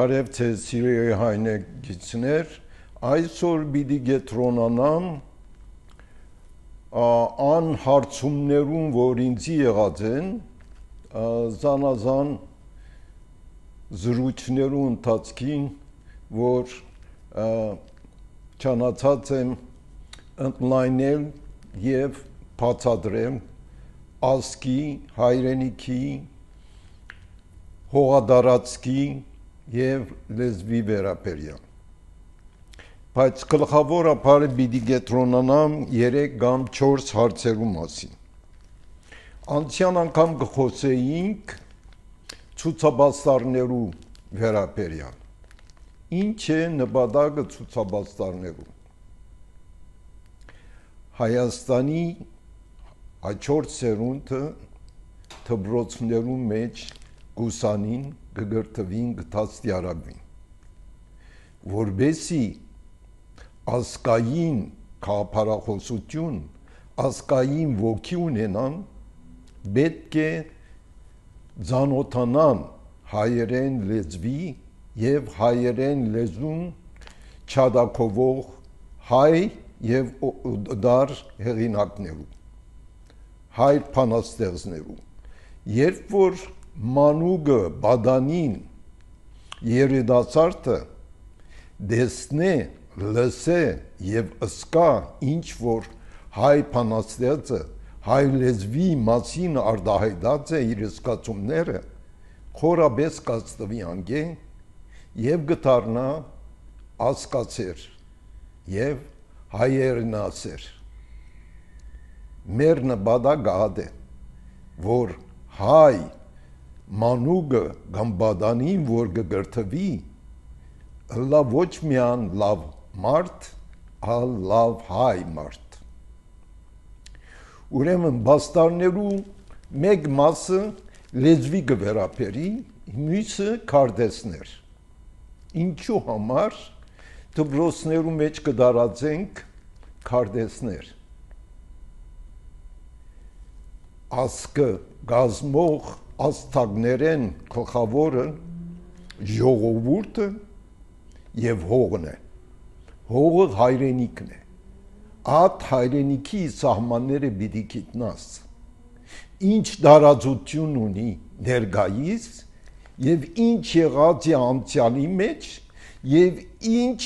Բարև ձեզ սիրելի հայրենակիցներ, այսօր պիտի գետրոնանամ անհարցումներուն, որ ինձի եղած են, զանազան զրույցներու ընթացքին, որ չանացած եմ ընդլայնել և բացատրել ազգի, հայրենիքի, հողադարածքի և լեզվի վերաբերյալ։ Բայց գլխավորապես պիտի կենտրոնանամ 3 կամ 4 հարցերու մասին։ Անցյալ անգամ կխոսեինք ցուցաբաստարներու վերաբերյալ։ Ինչ է նպատակը ցուցաբաստարներու։ Հայաստանի հաջորդ սերունդը դպրոցներու մեջ գուսանին կգրտվին կդաստիարակվին, որբեսի ազգային քաղաքախոսություն, ազգային ոգի ունենան, պետք է ծանոթանան հայերեն լեզվի և հայերեն լեզուն չադակովող հայ և դար հեղինակներու, հայ բանաստեղծներու, երբ որ մանուկը բադանին երիտասարդը դեսնե, լսե և ըսկա ինչ որ հայ բանաստեղծը հայ լեզվի մասին արտահայտած է իր զգացումները, խորապես կծտվի անգե և կդառնա ազգացեր և հայերենասեր։ Մեր նպատակը այդ է, որ հայ մանուկը կամ բադանին, որ կգրտվի, լավ ոչ միան լավ մարդ, այլ լավ հայ մարդ։ Ուրեմն բաստարներու մեկ մասը լեզվի կվերապերի, մյուսը քարտեզներ։ Ինչու համար դպրոցներու մեջ կդարածենք քարտեզներ։ Ազգը գազմող աստղներեն գլխավորը ժողովուրդը և հողն է։ Հողը հայրենիքն է։ Այդ հայրենիքի սահմանները պիտի գիտնաս։ Ինչ տարածություն ունի ներկայիս և ինչ եղած է անցյալի մեջ և ինչ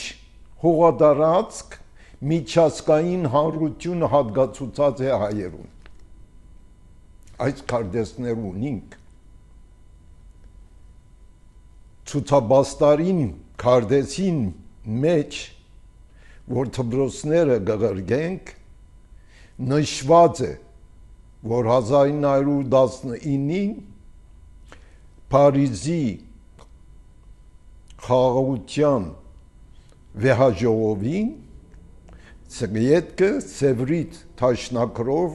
հողատարածք միջազգային հանրությունը հատկացուցած է հայերուն։ Այս քարտեզներ ունինք։ Ցուցաբաստարին քարտեզին մեջ, որ դպրոցները կղրգենք, նշված է, որ 1919-ին Փարիզի խաղաղության վեհաժողովին Սովետը Սևրիտ թաշնակրով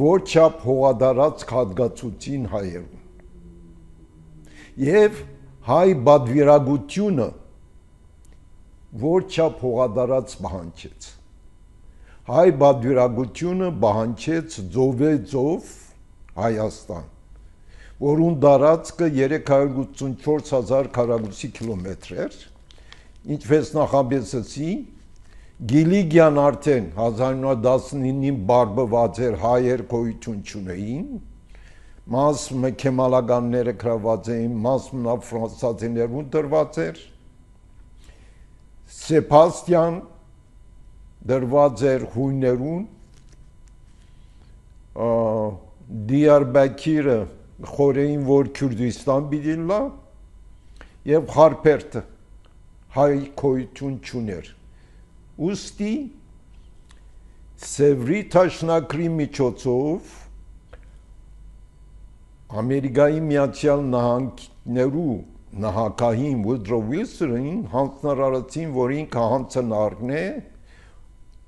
որ չափ հողատարածք հատկացուցին հայերուն և հայ բադվիրագությունը որ չափ հողատարածք պահանջեց։ Հայ բադվիրագությունը պահանջեց ծովեծով Հայաստան, որուն տարածքը 384,000 քառակուսի կիլոմետր էր, ինչպես նախապես ասի, Գիլիգյան արդեն 1919-ին բարբված էր, հայեր գոյություն չունեին, մասը քեմալականները գրաված էին, մասը ֆրանսիացիներուն դրված էր, Սեբաստիան դրված էր հույներուն, Դիարբաքիրը խորեին, որ Քուրդիստան պիտի լա, և Խարփերդը հայ գոյություն չուներ։ Ուստի Սևրի թաշնակրի միջոցով Ամերիկայի Միացյալ Նահանգներու նահանգային Վուդրո Վիլսոնին հանձնարարեցին, որ ինքը հանձնարարն է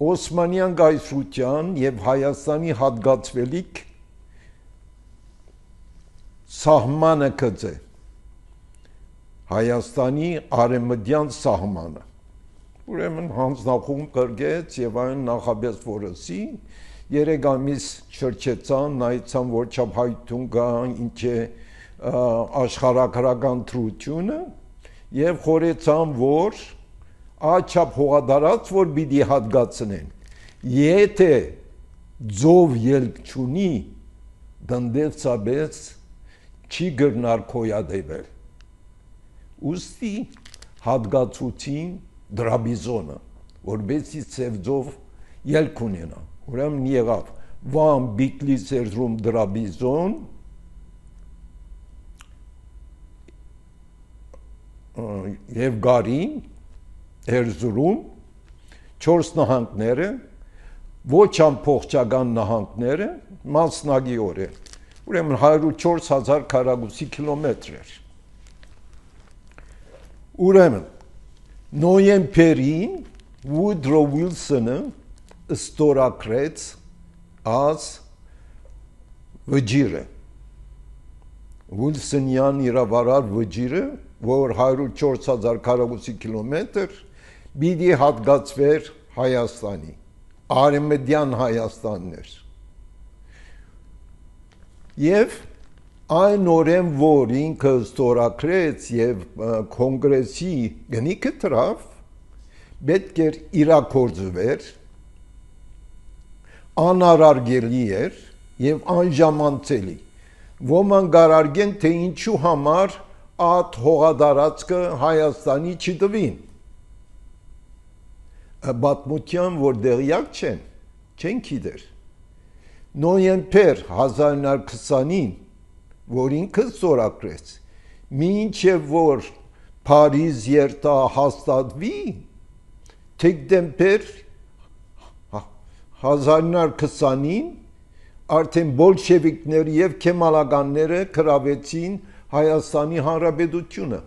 Օսմանյան կայսրության և Հայաստանի հատկացվելիք սահմանը գծե, Հայաստանի արևմտյան սահմանը։ Ուրեմն հանձնախումբ կրկեց և այն նախապես որսի 3 ամիս շրջեցան, նայեցան որ չափ հայթուն կա, ինչ է աշխարհագրական դրությունը եւ խորեցան, որ աչափ հողադարած, որ պիտի հատկացնեն, եթե ձով ելք չունի, դնդեցաբես չի գրնար կոյադեվել, ուստի հատկացուցին դրաբիզոնը, որբեսի ծև ձով ելք ունենա, ուրեմն եղավ, Վան Բիտլիս Էրզրում դրաբիզոն, եւ Գարին Էրզրում 4 նահանգները, ոչ ամփոխչական նահանգները մասնագիորեն, ուրեմն 104,000 քառակուսի կիլոմետր էր։ Ուրեմն նոյեմբերին Վուդրո Ուիլսոնը ստորագրեց as վճիրը, Ուիլսոնյան իրավարար վճիրը, որ 104,000 քառակուսի կիլոմետր պիտի հատկացվեր Հայաստանի, Արևմտյան Հայաստաններ։ Եվ այն օրեն, որ ինքը ստորագրեց եւ կոնգրեսի գնիքը դրավ, պետք էր իրագործվեր, անարարգելի էր եւ անժամանցելի։ Ոմանք գարարգեն, թե ինչու համար այդ հողադարածքը Հայաստանի չտվին։ Պատմության, որ դեղյակ չեն գիտեր։ Նոյեմբեր 1920-ին, որ ինքը ստորագրեց, մինչև որ Փարիզ երթա հաստատվի, դեկտեմբեր 1920-ին արդեն բոլշևիկները եւ քեմալականները գրավեցին Հայաստանի Հանրապետությունը,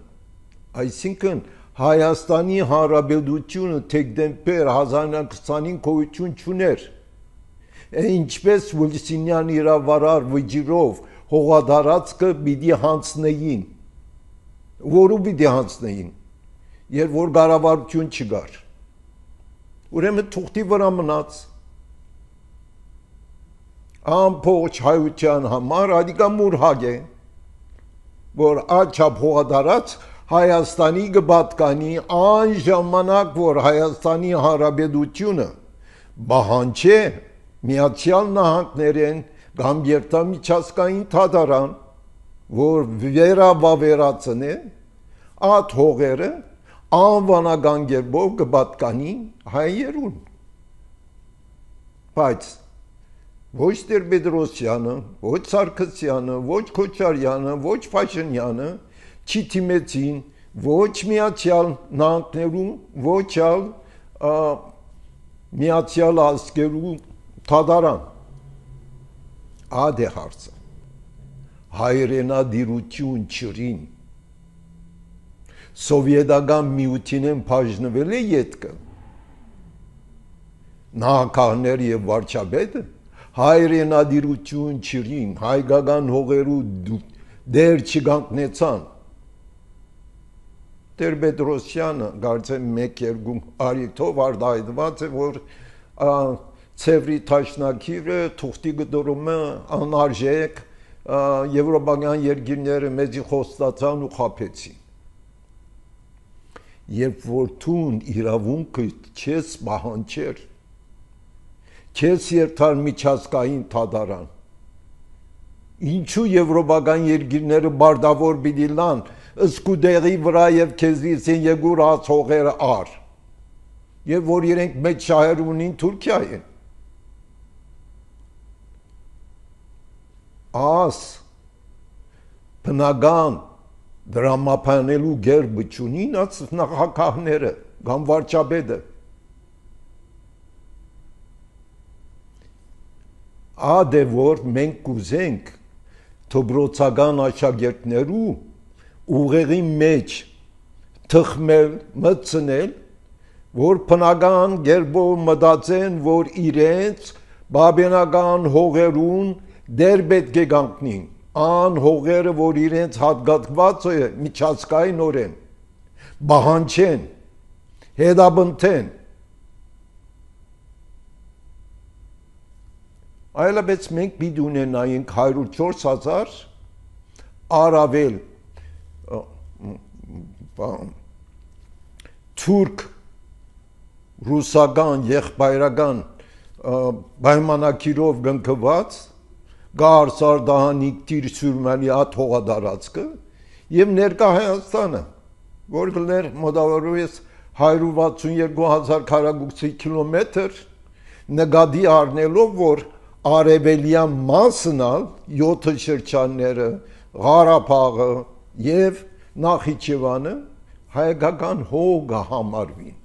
այսինքն Հայաստանի Հանրապետությունը դեկտեմբեր 1920-ին գոյություն չուներ, ինչպես Ուիլսոնյան իրավարար վճիրով հողադարածքը պիտի հանձնեին, որու պիտի հանձնեին, երբ որ կառավարություն չկար, ուրեմն թուղթի վրա մնաց, ամբողջ հայության համար ադիկա մուրհագ է, որ աչափ հողադարած Հայաստանի կպատկանի անժամանակ, որ Հայաստանի Հանրապետությունը բահանջե Միացյալ Նահանգներեն կամ երթամիջազգային թադարան, որ վերաբավերացնե այդ հողերը անվանական կերպով կպատկանի հայերուն։ Բայց ոչ Տեր-Պետրոսյանը, ոչ Սարգսյանը, ոչ Քոչարյանը, ոչ Փաշինյանը չթիմեցին ոչ Միացյալ Նահանգներում, ոչ ալ Միացյալ Ազգերու թադարան։ Ադե հարցը հայրենադիրություն չրին սովետական միութին բաժնվել է ետքը նահանգներ եւ վարչապետը հայրենադիրություն չրին հայկական հողերու դեր չգանքնեցան Տեր-Պետրոսյանը կարծեմ 1-2 արիթով արտահայտված է որ Ցևրի Թաշնակիրը թուղթի գդորումը անարժեք եվրոպական երկիրները մեծի խոստացան ու խաբեցին։ Երբ որ թուն իրավունքը չես պահանջեր, չես երթար միջազգային թադարան, ինչու եվրոպական երկիրները բարտավոր պիտի լան սկուդերի վրա եւ քեզից են եկուր հողերը ար, եւ որ իրենք մեծ շահեր ունին Թուրքիայեն։ Աս բնական դրամապանելու գերբը չունին աց նախագահները կամ վարչապետը ադե որ մենք կուզենք դոբրոցական աշակերտներու ուղեղի մեջ թխմել մտցնել որ բնական գերբով մտածեն որ իրենց բաբենական հողերուն դեր պետք է գանքնին ան հողերը որ իրենց հատկացված է միջազգայինորեն բահանջեն հետաբնթեն այլապես մենք պիտի ունենայինք 104,000 առավել թուրք ռուսական եղբայրական պայմանագիրով գնքված գար սարդահանիկ տիր սյուրմալի հատ հողադարածքը եւ ներկա Հայաստանը, որ գլներ մոտավորապես 162,000 քառակուսի կիլոմետր նկատի առնելով, որ արևելյան մասն ալ 7 շրջանները, Ղարաբաղը եւ Նախիջևանը հայկական հող համարվին։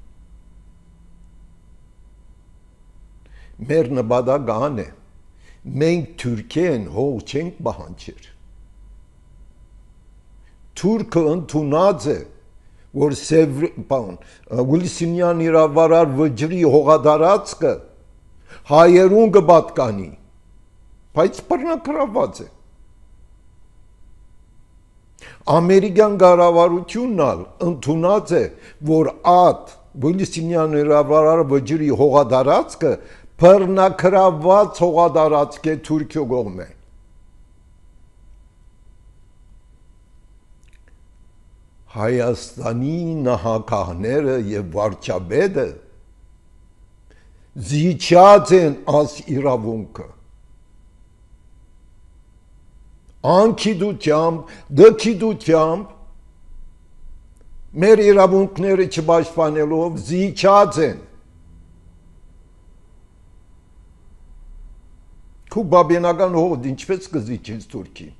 Մեր նպատակն է, մենք Թուրքիեն հող չենք պահանջեր։ Թուրքը ընդունած է, որ Ուիլսոնյան իրավարար վճռի հողադարածքը հայերուն կպատկանի, բայց բռնակրաված է։ Ամերիկյան կառավարությունն ալ ընդունած է, որ այդ Ուիլսոնյան իրավարար վճռի հողադարածքը բռնակրաված հողադարածք է Թուրքիո կողմէ։ Հայաստանի նահանգները եւ վարչապետը զիջած են աս իրավունքը անկիդությամբ, դքիդությամբ մեր իրավունքները չպաշտպանելով զիջած են քուբաբենական հողդ ինչպես կզիջես Թուրքին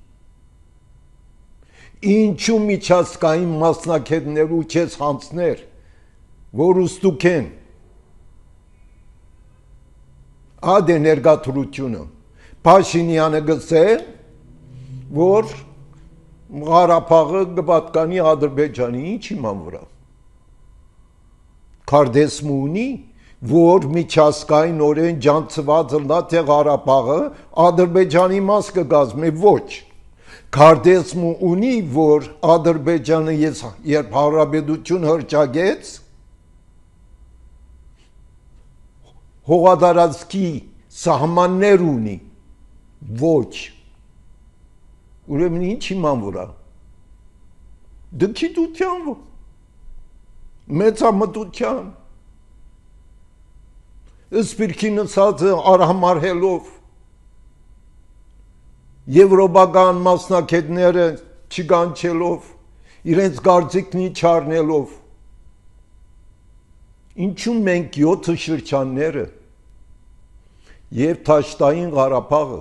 Ինչու միջազգային մասնակիցներու չես հանցներ, որ ուստուք են, ադե ներգաթրությունը, Փաշինյանը գսե, որ Ղարաբաղը կպատկանի Ադրբեջանի, ինչ իման վրա, Քարդեսմը ունի, որ միջազգային օրեն ջանցված լա, թե Ղարաբաղը Ադրբեջանի մաս կգազմի, ոչ, Քարդեսմը ունի, որ Ադրբեջանը երբ հարաբերություն հրճագեց, հողադարածքի սահմաններ ունի, ոչ, ուրեմն ինչ իման վրա, դքիդության, մեծամտության, սպիրկի նսածը արհամարհելով, Եվրոպական մասնակիցները չգանչելով, իրենց կարծիքնի չառնելով, ինչու մենք 7 շրջանները եւ Թաշտային Ղարաբաղը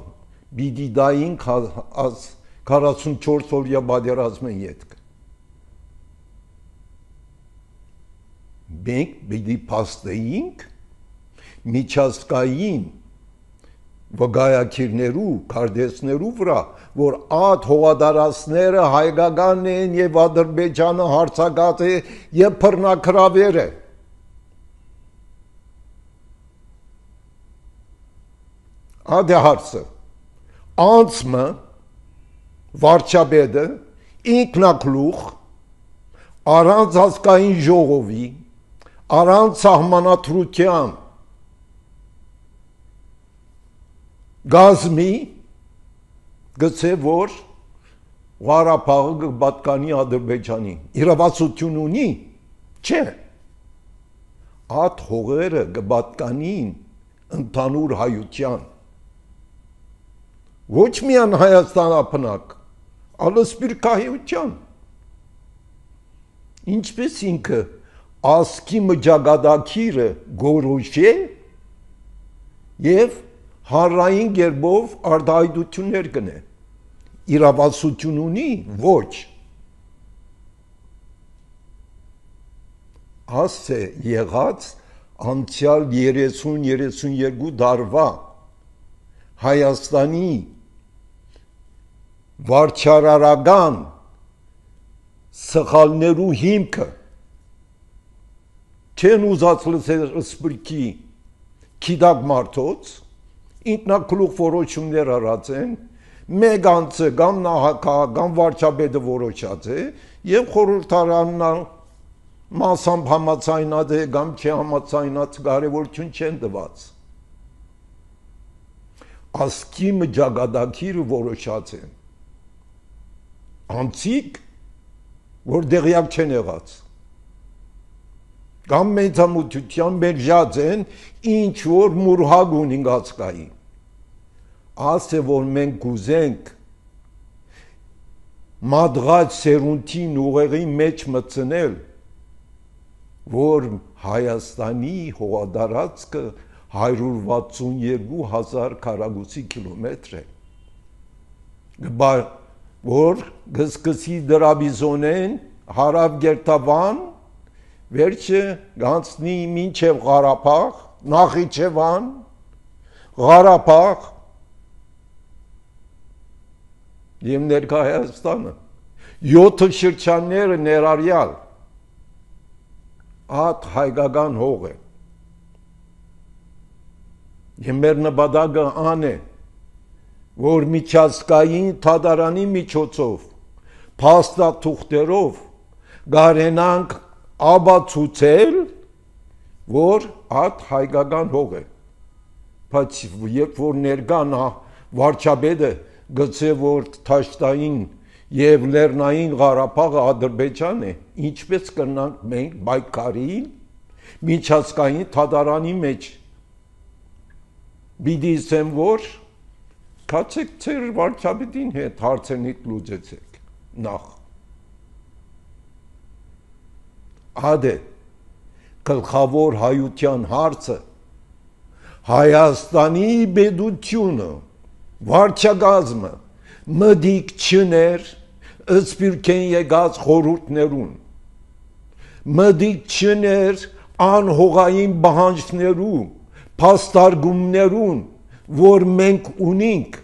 պիտի դային 44 օրյա պատերազմեն ետք։ Մենք պիտի փաստեինք միջազգային վգայակիրներու, քարդեսներու վրա, որ այդ հողադարածները հայկական են եւ Ադրբեջանը հարցակած է եւ բռնակրավեր է։ Ադե հարցը, անցմը, վարչապետը, ինքնակլուխ, առանց ազգային ժողովի, առանց սահմանադրության գազմի գցե որ Ղարաբաղը կպատկանի Ադրբեջանի իրավասություն ունի չէ այդ հողերը կպատկանին ընդհանուր հայության ոչ միայն Հայաստան ապնակ այլ սպիրկահայության ինչպես ինքը ասկի մջագադակիրը գորոշե եւ Հարային գերբով արդայդություններ կնե, իրավասություն ունի, ոչ, աս է եղած անցյալ 30-32 դարվա Հայաստանի վարչարարական սխալներու հիմքը չեն ուզած լսել սպրկի քիդակ մարդոց ինքնակլուխ որոշումներ արած են, մեկ անձը կամ նահանգապետը կամ վարչապետը որոշած է եւ խորհրդարանն մասամբ համաձայնած է կամ չի համաձայնած կարևորություն չեն տված։ Ասկի մջագադակիրը որոշած են։ Անցիկ, որ դեղյակ չեն եղած։ կամ մեծամուտության մերժած են ինչ որ մուրհագ ունին գացկայի ասե որ մենք կուզենք մադղած սերունտին ուղեղի մեջ մտցնել որ Հայաստանի հողադարածքը 162,000 քառակուսի կիլոմետր է որ գսկսի դրաբիզոնեն հարավ գերտավան վերջը գանցնի մինչև Ղարաբաղ Նախիջևան Ղարաբաղ եւ ներկա Հայաստանը 7 շրջանները ներառյալ ատ հայկական հող է եւ մեր նպատակը ան է որ միջազգային թադարանի միջոցով փաստաթուղթերով գարենանք աբացուցել որ ատ հայկական հող է բայց երբ որ ներկան վարչապետը գծե որ Թաշտային եւ Լեռնային Ղարաբաղը Ադրբեջան է ինչպես կրնանք մենք բայկարին միջազգային թադարանի մեջ բիդի ասեմ որ կացեք ծեր վարչապետին հետ հարցերնիդ լուծեցեք նախ ադե գլխավոր հայության հարցը Հայաստանի բեդությունը վարչագազմը մդիկ չներ ըսպիրքեն եկած խորհուրդներուն մդիկ չներ անհողային բանջներու փաստարգումներուն որ մենք ունենք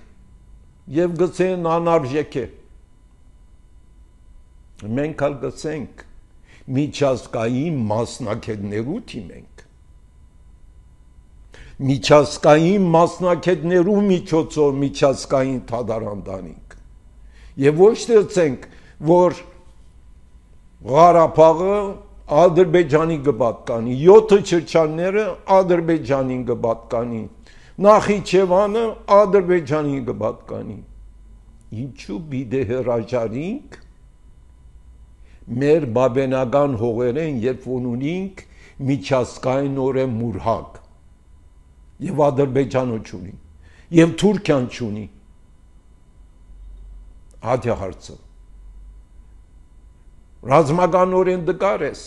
եւ գցեն անարժեք է մենք ալ գցենք միջազգային մասնակիցներու թիմենք միջազգային մասնակիցներու միջոցով միջազգային թադարան դանենք եւ ոչ թե որ Ղարաբաղը Ադրբեջանի կպատկանի 7 շրջանները Ադրբեջանին կպատկանի Նախիջևանը Ադրբեջանին կպատկանի ինչու պիտի հրաժարինք մեր բաբենական հողերեն երբ որ ունենք միջազգայինորեն մուրհակ եւ Ադրբեջանը չունի եւ Թուրքիան չունի ադյա հարցը ռազմականորեն դկար ես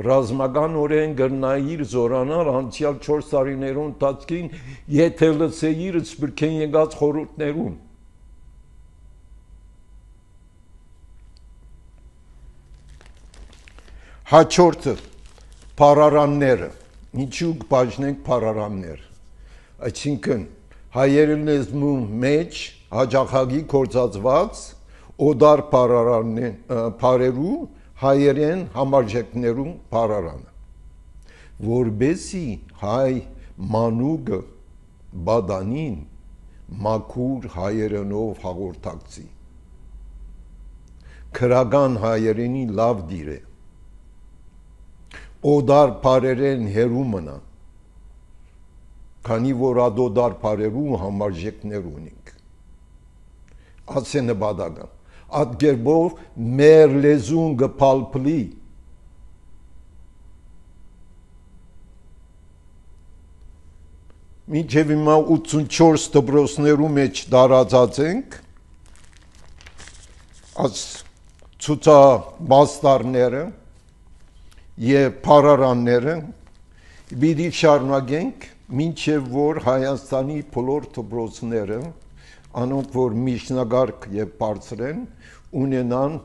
ռազմականորեն գրնայիր զորանալ անցյալ 4 տարիներուն տածքին եթե լսեիր սպրքեն եկած խորհուրդներուն հաջորդը փարարանները ինչու կբաժնենք փարարաններ այսինքն հայերեն լեզվու մեջ հաջախագի կործածված օդար փարերու հայերեն համարժեքներու փարարանը որբեսի հայ մանուկը բադանին մաքուր հայերենով հաղորդակցի քրական հայերենի լավ դիր է օդար փարերեն հերու մնա քանի որ ադոդար փարերու համարժեքներ ունենք ասե նպատակը այդ գերբով մեր լեզուն գփալփլի մինչև հիմա 84 դպրոցներու մեջ դարածած ենք աս ցուցաբաստարները եւ փարարանները պիտի շարունակենք մինչև որ Հայաստանի բոլոր դպրոցները անոնք որ միջնագարկ եւ բարձր են ունենան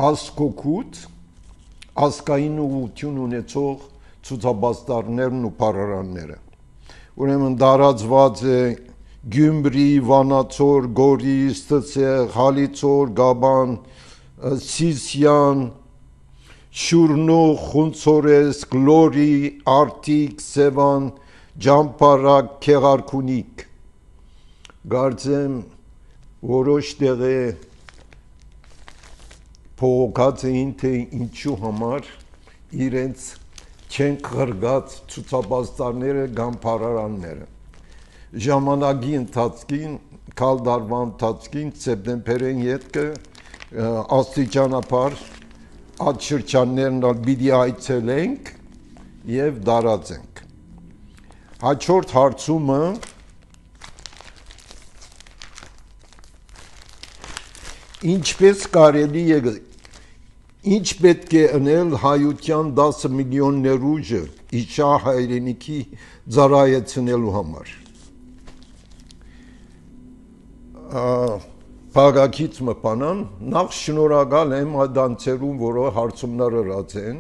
ասկոկուտ ասկային ուղղություն ունեցող ցուցաբաստարներն ու փարարանները ուրեմն դարածված է Գյումրի, Վանացոր, Գորիս, Ստսեղ, Հալիցոր, Գաբան Սիսյան, Շուրնուղ, Խունցորես, Գլորի, Արտիկ, Սևան, Ջամփարակ, Քեղարքունիք Գարձեմ որոշ տեղե փողոքած էին թե ինչու համար իրենց չեն խրգած ցուցաբաստարները կամ փարարանները ժամանակի ընթացքին քալ դարվա ընթացքին սեպտեմբերին ետքը աստիճանաբար այդ շրջաններն պիտի այցելենք եւ դարածենք։ Հաջորդ հարցումը ինչպես կարելի է ինչ պետք է անել հայության 10 միլիոն ներուժը իշա հայրենիքի ծառայեցնելու համար։ Փագակից մպանան նախ շնորհակալ եմ այդանցերուն, որը հարցումներ ըրած են,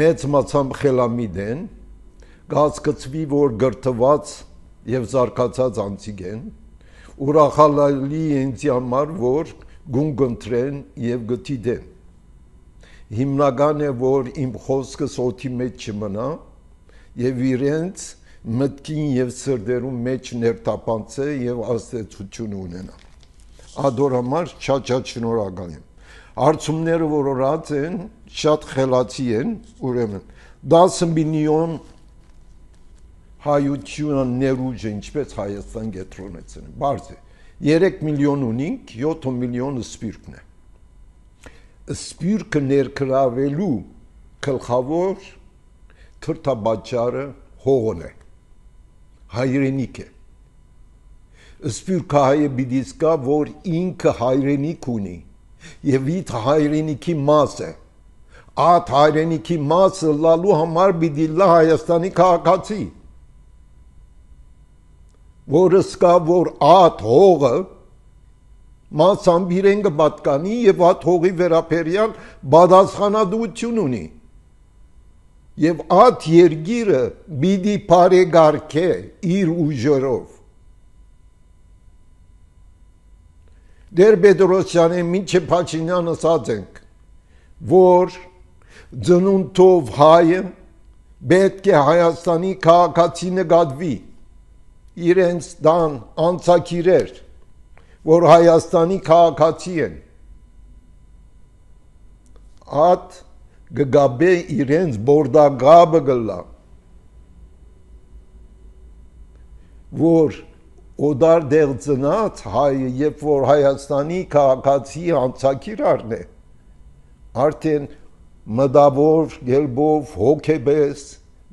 մեծ մացամբ խելամիտ են, գազգծվի, որ գրթված եւ զարգացած անձիկ են, ուրախալի ինձ համար, որ գուն կընտրեն եւ գտիդեն։ Հիմնական է, որ իմ խոսքս օդի մեջ չմնա եւ իրենց մտքին եւ սրտերում մեջ ներտապանցե եւ ազդեցություն ունենա։ Ադոր համար շատ շնորհակալ եմ։ Հարցումները, որ ըրած են, շատ խելացի են, ուրեմն 10 միլիոն հայությունը ներուժը ինչպես Հայաստան կենտրոնեցին, բարձ է, 3 միլիոն ունինք, 7 միլիոն սպիրկն է։ Սպիրկը ներկրավելու գլխավոր թրթաբաճարը հողն է, հայրենիք է։ Սպիրկը հայը պիտի զգա, որ ինքը հայրենիք ունի եւ իր հայրենիքի մաս է։ Այդ հայրենիքի մասը լալու համար պիտի լա Հայաստանի քաղաքացի, որը զգա, որ այդ հողը մասամբ իրեն կպատկանի եւ այդ հողի վերաբերյալ պատասխանատվություն ունի եւ այդ երկիրը պիտի բարեկարգե իր ուժերով։ Դեր Պետրոսյանը մինչև Փաշինյանը ասած ենք, որ ծնունդով հայը պետք է Հայաստանի քաղաքացի նկատվի, իրենց դան անցակիրեր, որ Հայաստանի քաղաքացի են, այդ գգաբե իրենց բորդագաբը գլա, որ օդար դեղ ծնած հայը, երբ որ Հայաստանի քաղաքացի անցակիրարն է, արդեն մտավոր գելբով հոգեբես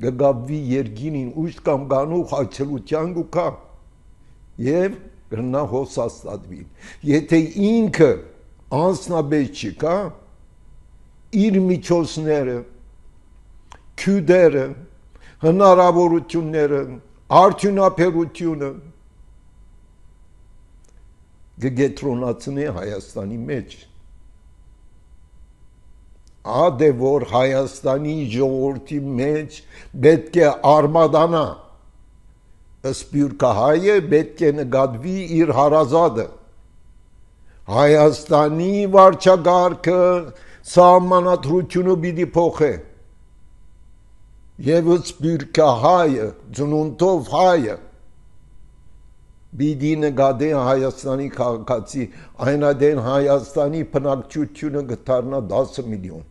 գգաբվի երգինին ուշտ կամ գանուխ այցելության գուկա եւ գրնա հոսաստատվի։ Եթե ինքը անձնաբեջ չկա, իր միջոցները, քյուդերը, հնարավորությունները, արդյունաբերությունը գետրոնացնի Հայաստանի մեջ։ Ադե որ Հայաստանի ժողովրդի մեջ պետք է արմադանա, սպիրկը հայը պետք է նկատվի իր հարազատը, Հայաստանի վարչագահքը սահմանադրությունը պիտի փոխե, եւ սպիրկը հայը, ծնունդով հայը պիտի նկատի Հայաստանի քաղաքացի, այնադեն Հայաստանի բնակչությունը կդառնա 10 միլիոն։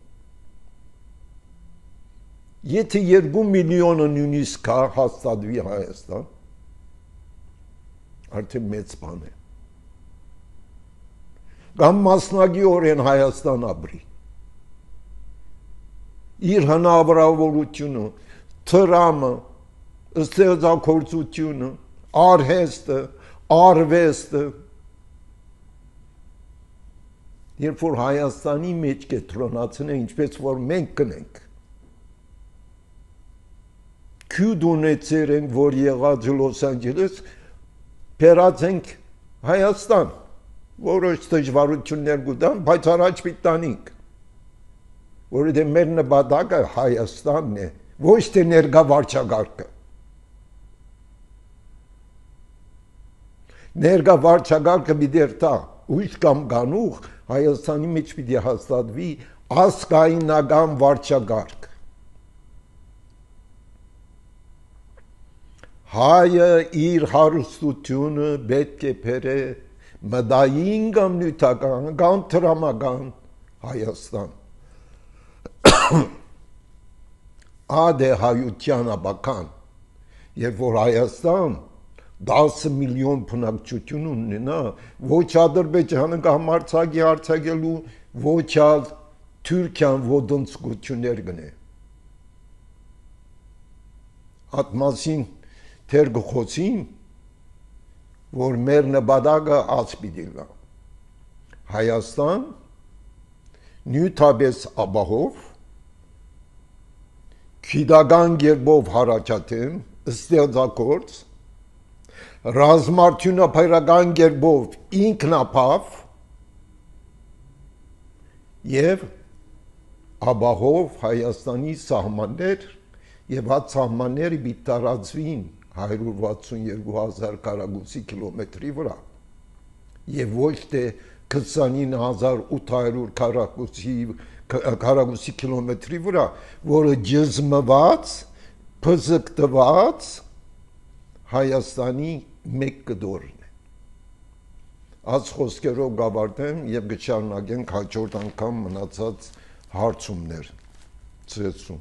Եթե 2 միլիոնը նույնիսկ հաստատվի Հայաստան, արդեն մեծ բան է։ Կամ մասնագիտորեն Հայաստան ապրի։ Իր հնարավորությունը, տրամը, ստեղծագործությունը, արհեստը, արվեստը, երբ որ Հայաստանի մեջ կենտրոնացնե, ինչպես որ մենք կնենք, քյուդ ունեցեր ենք, որ եղած Լոս Անջելես, բերած ենք Հայաստան, որոշ դժվարություններ կուտան, բայց առաջ պիտանինք, որովհետև մեր նպատակը Հայաստանն է, ոչ թե ներկա վարչակարգը։ Ներկա վարչակարգը պիտի երթա, ուշ կամ գանուխ Հայաստանի մեջ պիտի հաստատվի ազգայնական վարչակարգ։ Հայը իր հարստությունը պետք է բերե մտային կամ նյութական կամ տրամական Հայաստան։ Ադե հայության ապական, երբ որ Հայաստան 10 միլիոն բնակչություն ունենա, ոչ Ադրբեջանը կամ Արցախի արձակելու, ոչ Թուրքիան ոդնցկություններ գնե։ Այդ մասին թեր գխոցին, որ մեր նպատակը ասպիտի լա։ Հայաստան նյութաբես ապահով, քիդական գերբով հարաճատեմ, ստեղծագործ, ռազմարտյունաբերական գերբով ինքնապավ եւ ապահով Հայաստանի սահմաններ եւ այդ սահմանները պիտի տարածվին 162,000 քառակուսի կիլոմետրի վրա եւ ոչ թե 29,800 քառակուսի կիլոմետրի վրա, որը ջզմված, փզկտված Հայաստանի մեկ կդորն է։ Այս խոսքերով գավարտեմ եւ կշարունակենք հաջորդ անգամ մնացած հարցումներ ծեցում։